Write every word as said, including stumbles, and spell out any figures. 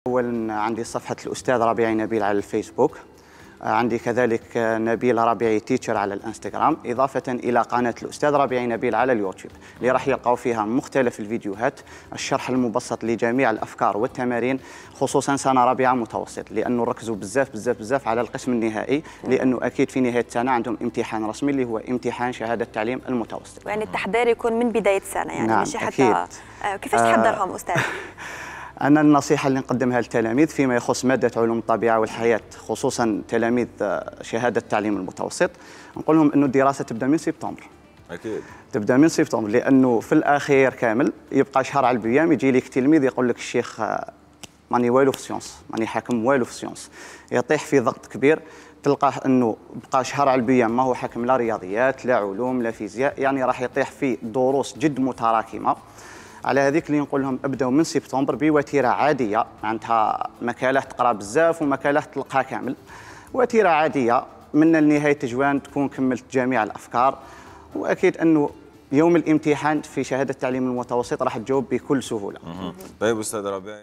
أولا عندي صفحة الأستاذ ربيعي نبيل على الفيسبوك، عندي كذلك نبيل ربيعي تيتشر على الانستغرام، إضافة إلى قناة الأستاذ ربيعي نبيل على اليوتيوب اللي راح يلقاو فيها مختلف الفيديوهات، الشرح المبسط لجميع الأفكار والتمارين، خصوصا سنة رابعة متوسط، لأنه ركزوا بزاف بزاف بزاف على القسم النهائي، لأنه أكيد في نهاية السنة عندهم امتحان رسمي اللي هو امتحان شهادة التعليم المتوسط. يعني التحضير يكون من بداية السنة، يعني نعم ماشي حتى أكيد. كيفاش تحضرهم أستاذ؟ أنا النصيحة اللي نقدمها للتلاميذ فيما يخص مادة علوم الطبيعة والحياة، خصوصا تلاميذ شهادة التعليم المتوسط، نقول لهم أنه الدراسة تبدأ من سبتمبر. أكيد. تبدأ من سبتمبر، لأنه في الأخير كامل يبقى شهر على البيام يجي لك تلميذ يقول لك الشيخ ماني والو في السيونس، ماني حاكم والو في السيونس، يطيح في ضغط كبير، تلقاه أنه بقى شهر على البيام ما هو حاكم لا رياضيات لا علوم لا فيزياء، يعني راح يطيح في دروس جد متراكمة. على هذيك اللي نقول لهم ابداو من سبتمبر بوتيره عاديه، معناتها مكالات تقرا بزاف ومكالات تلقاها كامل، وتيره عاديه من لنهايه تجوان تكون كملت جميع الافكار، واكيد انه يوم الامتحان في شهاده التعليم المتوسط راح تجاوب بكل سهوله. طيب استاذ ربيع.